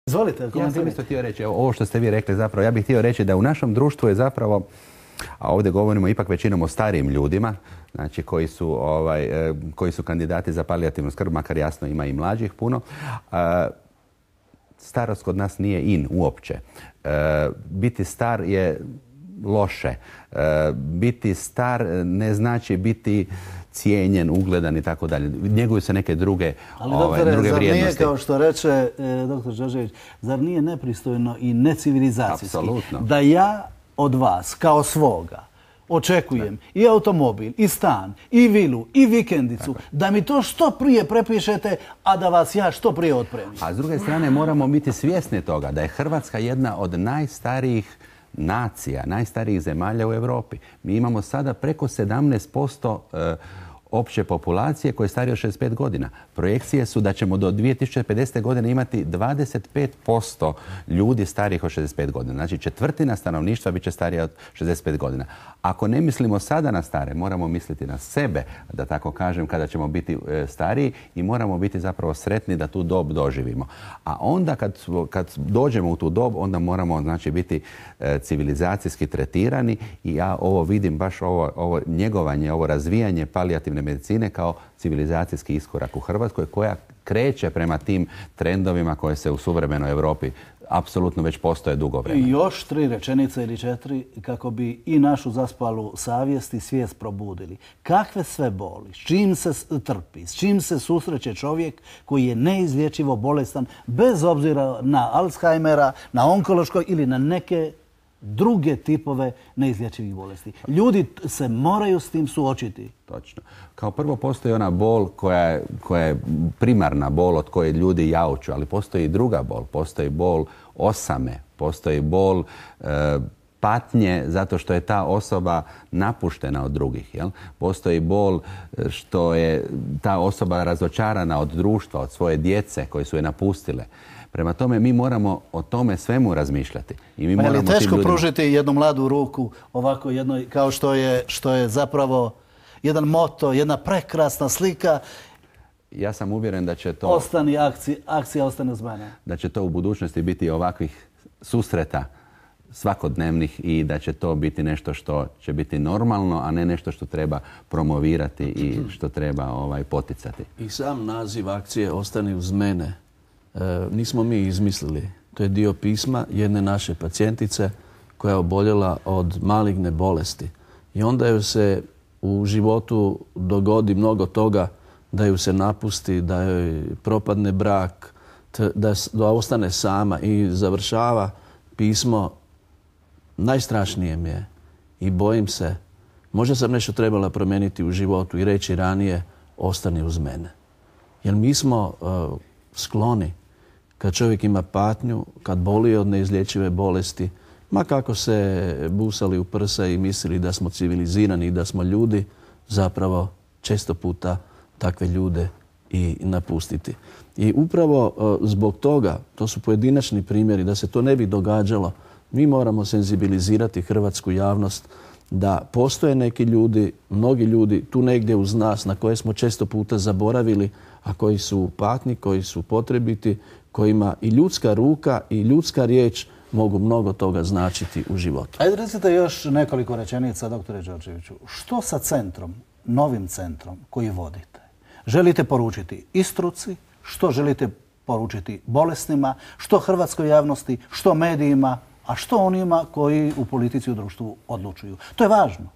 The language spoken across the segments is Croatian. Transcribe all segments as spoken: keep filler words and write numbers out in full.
Izvolite. Ja sam isto htio reći, ovo što ste vi rekli zapravo, ja bih htio reći da u našem društvu je zapravo, a ovdje govorimo ipak većinom o starijim ljudima, znači koji su, ovaj, koji su kandidati za palijativnu skrb, makar jasno ima i mlađih puno. Starost kod nas nije in uopće. Biti star je loše. Biti star ne znači biti cijenjen, ugledan i tako dalje. Njeguju se neke druge, Ali, ovaj, doktore, druge zar vrijednosti. nije, kao što reče e, doktor Đorđević, zar nije nepristojno i necivilizacijski Apsolutno. da ja od vas, kao svoga, očekujem da. i automobil, i stan, i vilu, i vikendicu, tako, da mi to što prije prepišete, a da vas ja što prije otpremim. A s druge strane moramo biti svjesni toga da je Hrvatska jedna od najstarijih nacija, najstarijih zemalja u Europi. Mi imamo sada preko sedamnaest posto opće populacije koje je starije od šezdeset pet godina. Projekcije su da ćemo do dvije tisuće pedesete. godine imati dvadeset pet posto ljudi starijih od šezdeset pet godina. Znači četvrtina stanovništva bit će starija od šezdeset pet godina. Ako ne mislimo sada na stare, moramo misliti na sebe, da tako kažem, kada ćemo biti stariji i moramo biti zapravo sretni da tu dob doživimo. A onda kad, kad dođemo u tu dob, onda moramo znači biti civilizacijski tretirani i ja ovo vidim baš ovo, ovo njegovanje, ovo razvijanje palijativne medicine kao civilizacijski iskorak u Hrvatskoj koja kreće prema tim trendovima koje se u suvremenoj Europi apsolutno već postoje dugo vremena. I još tri rečenice ili četiri kako bi i našu zaspalu savjest i svijest probudili. Kakve sve boli, s čim se trpi, s čim se susreće čovjek koji je neizlječivo bolestan bez obzira na Alzheimera, na onkološko ili na neke druge tipove neizlječivih bolesti. Ljudi se moraju s tim suočiti. Točno. Kao prvo postoji ona bol koja je, koja je primarna bol od koje ljudi jauču, ali postoji i druga bol. Postoji bol osame, postoji bol e, patnje zato što je ta osoba napuštena od drugih. Jel? Postoji bol što je ta osoba razočarana od društva, od svoje djece koje su je napustile. Prema tome, mi moramo o tome svemu razmišljati. I mi pa moramo je li teško ljudima... pružiti jednu mladu ruku ovako jednoj, kao što je, što je zapravo jedan moto, jedna prekrasna slika? Ja sam uvjeren da će to... Ostani akcija, akcija ostane uz mene. Da će to u budućnosti biti ovakvih susreta svakodnevnih i da će to biti nešto što će biti normalno, a ne nešto što treba promovirati i što treba ovaj, poticati. I sam naziv akcije Ostani uz mene e, nismo mi izmislili. To je dio pisma jedne naše pacijentice koja je oboljela od maligne bolesti. I onda joj se u životu dogodi mnogo toga, da ju se napusti, da joj propadne brak, da, da ostane sama i završava pismo. Najstrašnije mi je i bojim se, možda sam nešto trebala promijeniti u životu i reći ranije, ostani uz mene. Jer mi smo uh, skloni kad čovjek ima patnju, kad boli od neizlječive bolesti, ma kako se busali u prsa i mislili da smo civilizirani i da smo ljudi, zapravo često puta takve ljude i napustiti. I upravo uh, zbog toga, to su pojedinačni primjeri, da se to ne bi događalo, mi moramo senzibilizirati hrvatsku javnost da postoje neki ljudi, mnogi ljudi tu negdje uz nas na koje smo često puta zaboravili, a koji su u patnji, koji su potrebiti, kojima i ljudska ruka i ljudska riječ mogu mnogo toga značiti u životu. Ajde recite još nekoliko rečenica, doktore Đorđeviću. Što sa centrom, novim centrom koji vodite? Želite poručiti i struci, što želite poručiti bolesnima, što hrvatskoj javnosti, što medijima, a što onima koji u politici i u društvu odlučuju? To je važno.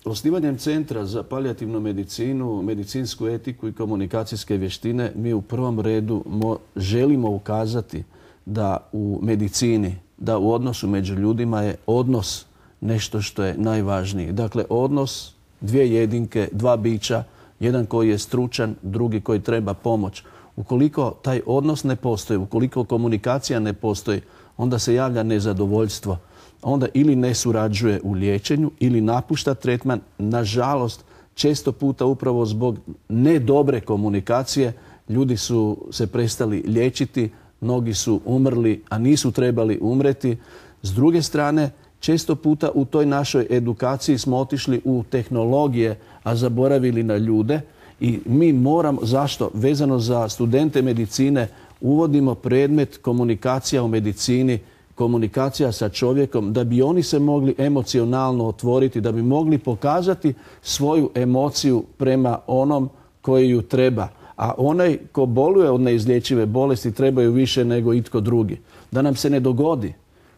Osnivanjem Centra za palijativnu medicinu, medicinsku etiku i komunikacijske vještine mi u prvom redu mo želimo ukazati da u medicini, da u odnosu među ljudima je odnos nešto što je najvažnije. Dakle, odnos dvije jedinke, dva bića, jedan koji je stručan, drugi koji treba pomoć. Ukoliko taj odnos ne postoji, ukoliko komunikacija ne postoji, onda se javlja nezadovoljstvo. Onda ili ne surađuje u liječenju ili napušta tretman. Nažalost, često puta upravo zbog nedobre komunikacije ljudi su se prestali liječiti, mnogi su umrli, a nisu trebali umreti. S druge strane, često puta u toj našoj edukaciji smo otišli u tehnologije, a zaboravili na ljude. I mi moramo, zašto? Vezano za studente medicine, uvodimo predmet komunikacija u medicini, komunikacija sa čovjekom, da bi oni se mogli emocionalno otvoriti, da bi mogli pokazati svoju emociju prema onom koji ju treba. A onaj ko boluje od neizlječive bolesti trebaju više nego itko drugi. Da nam se ne dogodi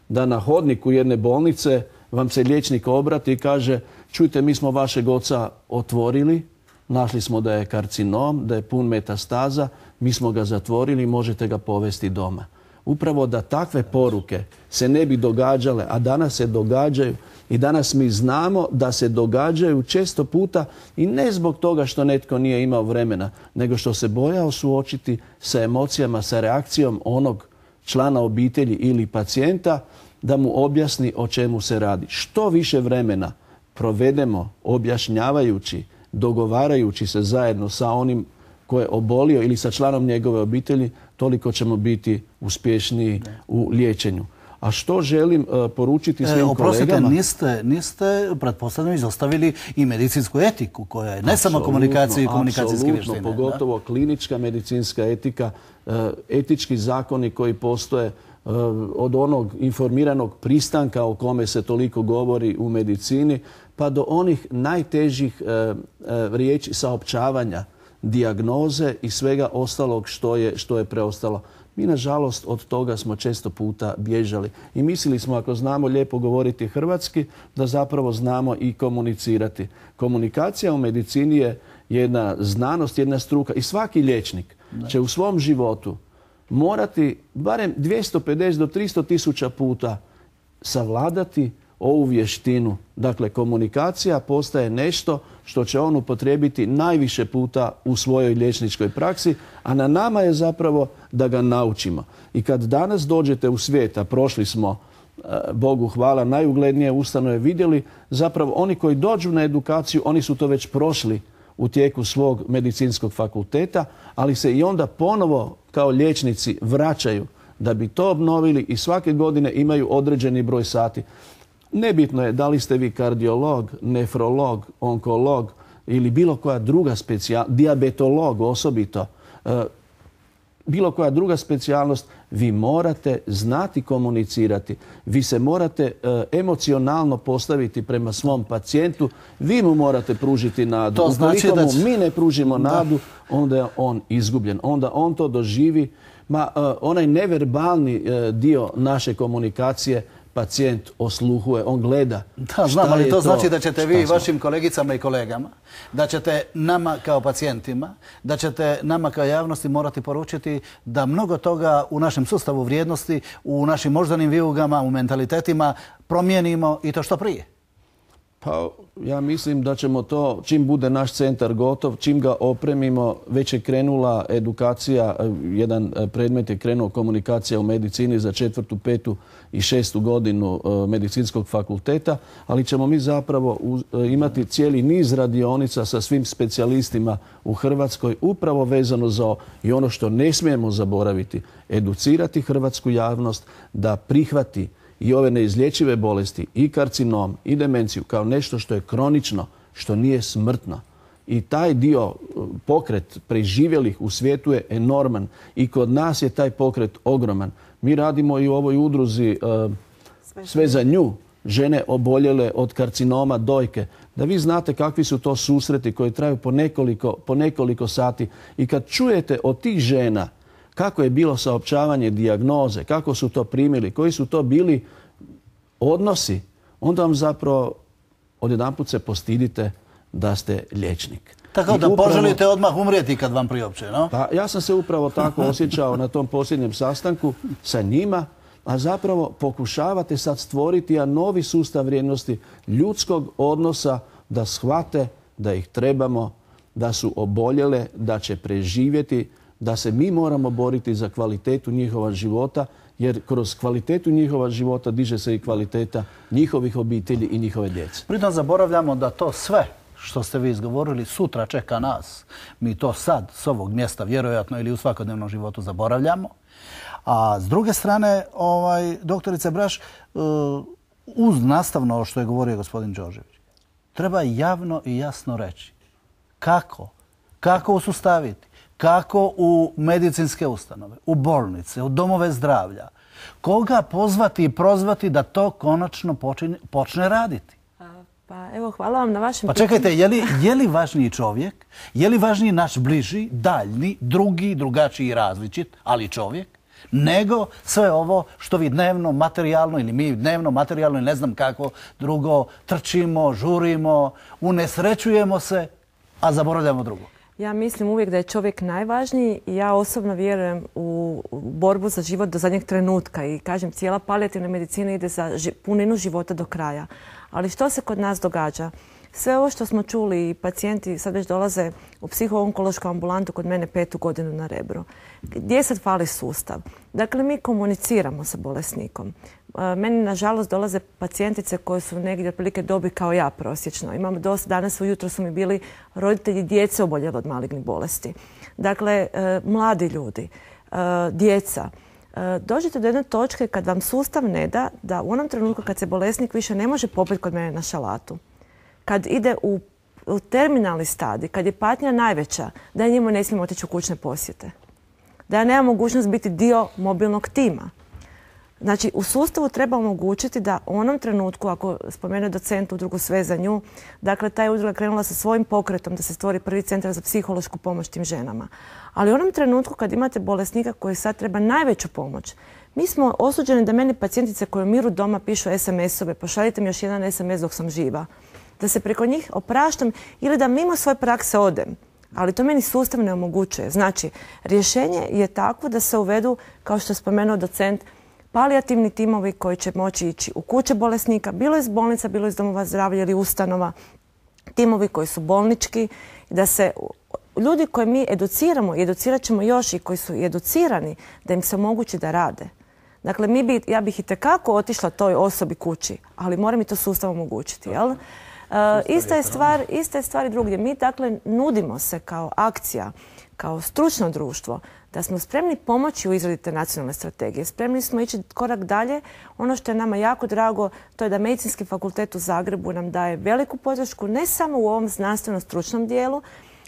da na hodniku jedne bolnice vam se liječnik obrati i kaže: čujte, mi smo vašeg oca otvorili, našli smo da je karcinom, da je pun metastaza, mi smo ga zatvorili, možete ga povesti doma. Upravo da takve poruke se ne bi događale, a danas se događaju i danas mi znamo da se događaju često puta i ne zbog toga što netko nije imao vremena, nego što se bojao suočiti sa emocijama, sa reakcijom onog člana obitelji ili pacijenta da mu objasni o čemu se radi. Što više vremena provedemo objašnjavajući, dogovarajući se zajedno sa onim ko je obolio ili sa članom njegove obitelji, toliko ćemo biti uspješniji u liječenju. A što želim uh, poručiti svim e, oprostite, kolegama? Niste, niste pretpostavljeno izostavili i medicinsku etiku koja je ne apsolutno, samo komunikacija i komunikacijske vještine. Pogotovo da? klinička medicinska etika, uh, etički zakoni koji postoje uh, od onog informiranog pristanka o kome se toliko govori u medicini, pa do onih najtežih uh, uh, riječi saopćavanja, dijagnoze i svega ostalog što je, što je preostalo. Mi, nažalost, od toga smo često puta bježali. I mislili smo, ako znamo lijepo govoriti hrvatski, da zapravo znamo i komunicirati. Komunikacija u medicini je jedna znanost, jedna struka. I svaki liječnik da. će u svom životu morati barem dvjesto pedeset do tristo tisuća puta savladati ovu vještinu. Dakle, komunikacija postaje nešto što će on upotrijebiti najviše puta u svojoj liječničkoj praksi, a na nama je zapravo da ga naučimo. I kad danas dođete u svijet, a prošli smo, Bogu hvala, najuglednije ustanove, vidjeli zapravo oni koji dođu na edukaciju, oni su to već prošli u tijeku svog medicinskog fakulteta, ali se i onda ponovo kao liječnici vraćaju da bi to obnovili i svake godine imaju određeni broj sati. Nebitno je da li ste vi kardiolog, nefrolog, onkolog ili bilo koja druga specijalnost, dijabetolog osobito, e, bilo koja druga specijalnost, vi morate znati komunicirati. Vi se morate e, emocionalno postaviti prema svom pacijentu. Vi mu morate pružiti nadu. To znači Ukoliko da mu mi ne pružimo nadu, onda je on izgubljen. Onda on to doživi. Ma, e, onaj neverbalni e, dio naše komunikacije pacijent osluhuje, on gleda. Da, znam, ali to znači da ćete vi vašim kolegicama i kolegama, da ćete nama kao pacijentima, da ćete nama kao javnosti morati poručiti da mnogo toga u našem sustavu vrijednosti, u našim moždanim vijugama, u mentalitetima promijenimo i to što prije. Pa ja mislim da ćemo to, čim bude naš centar gotov, čim ga opremimo, već je krenula edukacija, jedan predmet je krenuo komunikacija u medicini za četvrtu, petu i šestu godinu medicinskog fakulteta, ali ćemo mi zapravo imati cijeli niz radionica sa svim specijalistima u Hrvatskoj, upravo vezano za i ono što ne smijemo zaboraviti, educirati hrvatsku javnost da prihvati i ove neizlječive bolesti, i karcinom, i demenciju, kao nešto što je kronično, što nije smrtno. I taj dio, pokret preživjelih u svijetu je enorman. I kod nas je taj pokret ogroman. Mi radimo i u ovoj udruzi uh, Sve za nju, žene oboljele od karcinoma dojke. Da vi znate kakvi su to susreti koji traju po nekoliko, po nekoliko sati. I kad čujete od tih žena kako je bilo saopćavanje dijagnoze, kako su to primili, koji su to bili odnosi, onda vam zapravo odjedanput se postidite da ste liječnik. Tako da upravo poželite odmah umrijeti kad vam priopće, no? Pa ja sam se upravo tako osjećao na tom posljednjem sastanku sa njima, a zapravo pokušavate sad stvoriti jedan novi sustav vrijednosti ljudskog odnosa, da shvate da ih trebamo, da su oboljele, da će preživjeti, da se mi moramo boriti za kvalitetu njihova života, jer kroz kvalitetu njihova života diže se i kvaliteta njihovih obitelji i njihove djece. Pritom zaboravljamo da to sve što ste vi izgovorili sutra čeka nas. Mi to sad s ovog mjesta vjerojatno ili u svakodnevnom životu zaboravljamo. A s druge strane, ovaj, doktorice Braš, uz nastavno što je govorio gospodin Đorđević, treba javno i jasno reći kako, kako usustaviti, kako u medicinske ustanove, u bolnice, u domove zdravlja. Koga pozvati i prozvati da to konačno počine, počne raditi? Pa evo, hvala vam na vašem Pa čekajte, je li, je li važniji čovjek, je li važniji naš bliži, daljni, drugi, drugačiji, različit, ali čovjek, nego sve ovo što vi dnevno, materijalno ili mi dnevno, materijalno i ne znam kako drugo trčimo, žurimo, unesrećujemo se, a zaboravljamo drugo. Ja mislim uvijek da je čovjek najvažniji i ja osobno vjerujem u borbu za život do zadnjeg trenutka i kažem, cijela palijativna medicina ide za puninu života do kraja. Ali što se kod nas događa? Sve ovo što smo čuli i pacijenti sad već dolaze u psiho-onkološku ambulantu kod mene petu godinu na Rebru. Gdje sad fali sustav? Dakle, mi komuniciramo sa bolesnikom. Meni, nažalost, dolaze pacijentice koje su negdje otprilike dobi kao ja prosječno. Imamo dosta, danas ujutro su mi bili roditelji djece oboljeli od malignih bolesti. Dakle, mladi ljudi, djeca. Dođete do jedne točke kad vam sustav ne da, da u onom trenutku kad se bolesnik više ne može popiti kod mene na šalatu, kad ide u, u terminalni stadij, kad je patnja najveća, da ja njemu ne smijem otići u kućne posjete. Da ja nemam mogućnost biti dio mobilnog tima. Znači, u sustavu treba omogućiti da u onom trenutku, ako spomene docent udrugu Sve za nju, dakle, ta je udruga krenula sa svojim pokretom da se stvori prvi centar za psihološku pomoć tim ženama. Ali u onom trenutku kad imate bolesnika koji sad treba najveću pomoć, mi smo osuđeni da meni pacijentice koje umiru doma pišu es em es-ove, pošaljite mi još jedan es em es dok sam živa. Da se preko njih opraštam ili da mimo svoje prakse odem. Ali to meni sustav ne omogućuje. Znači, rješenje je takvo da se uvedu, kao što je spomenuo docent, palijativni timovi koji će moći ići u kuće bolesnika, bilo iz bolnica, bilo iz domova zdravlja ili ustanova, timovi koji su bolnički, da se ljudi koje mi educiramo i educirat ćemo još i koji su educirani, da im se omogući da rade. Dakle, mi bi, ja bih itekako otišla toj osobi kući, ali mora mi to sustav omogućiti, jel? Uh, ista je stvar, ista je stvar i drugdje. Mi, dakle, nudimo se kao akcija, kao stručno društvo, da smo spremni pomoći u izradi te nacionalne strategije. Spremni smo ići korak dalje. Ono što je nama jako drago, to je da Medicinski fakultet u Zagrebu nam daje veliku podršku, ne samo u ovom znanstveno-stručnom dijelu,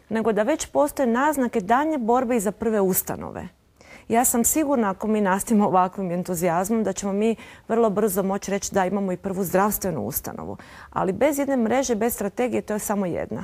nego da već postoje naznake daljnje borbe i za prve ustanove. Ja sam sigurna, ako mi nastavimo ovakvim entuzijazmom, da ćemo mi vrlo brzo moći reći da imamo i prvu zdravstvenu ustanovu. Ali bez jedne mreže, bez strategije, to je samo jedna.